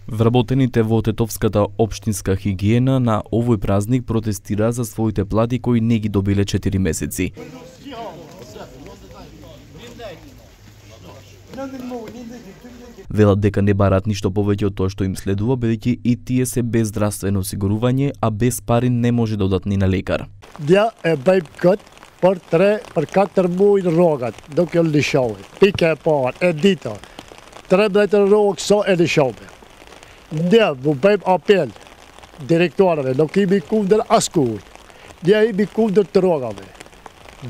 Вработените во Тетовската општинска хигиена на овој празник протестира за своите плати кои не ги добиле 4 месеци. Велат дека не барат ништо повеќе од тоа што им следува, бидејќи и тие се без здравствено осигурување, а без пари не може да одат ни на лекар. Ja bij kut per 4 mooi rogat, donc je de show. Pikke paar en dit. 3 meter rog så är det show. Ja, wo beim appel. Direktören, då kan vi kunder askor. Ja, vi kunder droga med.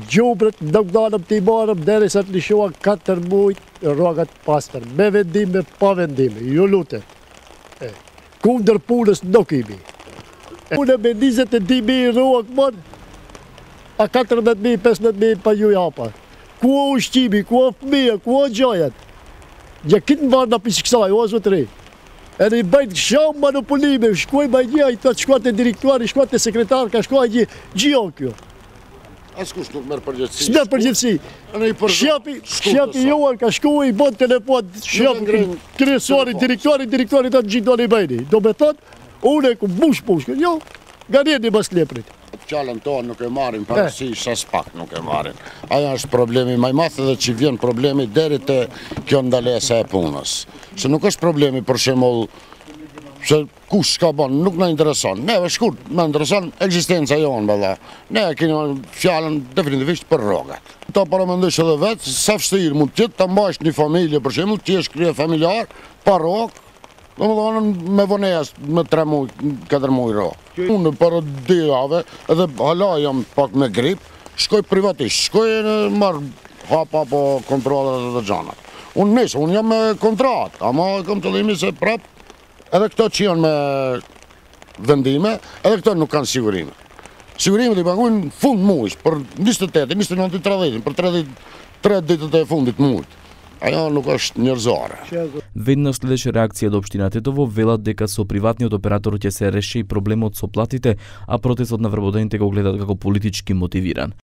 Jobret dagdaan op die morgen, daar is het de show 4 mooi rogat pastor. Me vendime, pa vendime. Jo lute. Kunder pules dokibi. Una benizet die me rog man. A 4 met me, 5 met me pa jujapa. Kuo ustibi, kuo fmija, kuo džojat. Ja kind var na pisiksaaj, ozo 3. En ik ben zo manipulieve, škoj ba je, tot škote direktori, škote sekretarka, škoj je džiokjo. A skuš nuk merr përgjegjësi? S'merr përgjegjësi. Shefi juan ka shku i bën telefon, shefi kryesori, direktori të gjithë i bëjni. Do me thot, unë ku bush, jo, garjeni mas leprit. Fjalën tonë nuk e marrin parasysh as pak nuk e marrin. Ajo është problemi më i madh edhe që vjen problemi deri te kjo ndalesa e punës. Se nuk është problemi për shembull se kush ka bën, nuk na intereson. Neve shkurt, na intereson ekzistenca jonë valla. Ne kemi fjalën definitivisht për rrogat. Ta paramendojsh edhe vetë, sa vështirë mund të jetë ta mbash një familje për shembull, ti je krye familjar, pa rrogë. Domethënë me vonejas me 3 muaj, 4 muaj rrogë. Unë për 2 javë edhe hala jam pak me grip, shkoj privatisht, shkoj marr hapa po kontrollat e xhanat. Unë jam me kontratë, ama kam qëllimin se prap edhe këto që janë me vendime, edhe këto nuk kanë sigurime. Sigurimet i paguajnë fund muajsh për 28, 29, 30, për 33 ditët e fundit muajit. Ajo nuk është njerëzore. Веднаш следеше реакција од општина Тетово, велат дека со приватниот оператор ќе се реши проблемот со платите, а протестот на вработените го гледат како политички мотивиран.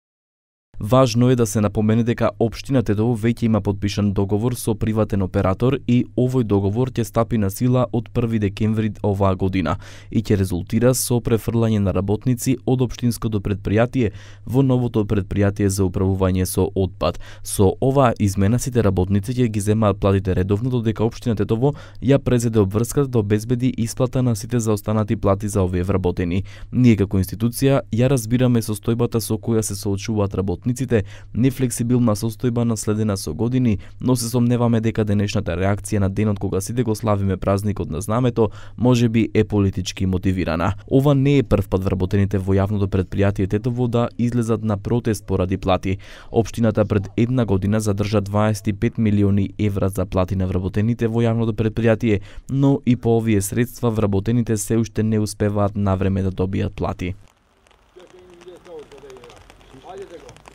Важно е да се напомене дека општина Тетово веќе има подпишан договор со приватен оператор и овој договор ќе стапи на сила од 1 декември оваа година и ќе резултира со префрлање на работници од општинското предпријатие во новото предпријатие за управување со отпад. Со оваа измена сите работници ќе ги земаат платите редовно, додека општина Тетово ја презеде обврската да обезбеди исплата на сите заостанати плати за овие вработени. Ние како институција ја разбираме состојбата со која се соочуваат работниците, нефлексибилна состојба наследена со години, но се сомневаме дека денешната реакција на денот кога сите го славиме празникот на знамето, можеби е политички мотивирана. Ова не е прв пат вработените во јавното предпријатие Тетово да излезат на протест поради плати. Општината пред 1 година задржа 25 милиони евра за плати на вработените во јавното предпријатие, но и по овие средства вработените се уште не успеваат навреме да добијат плати.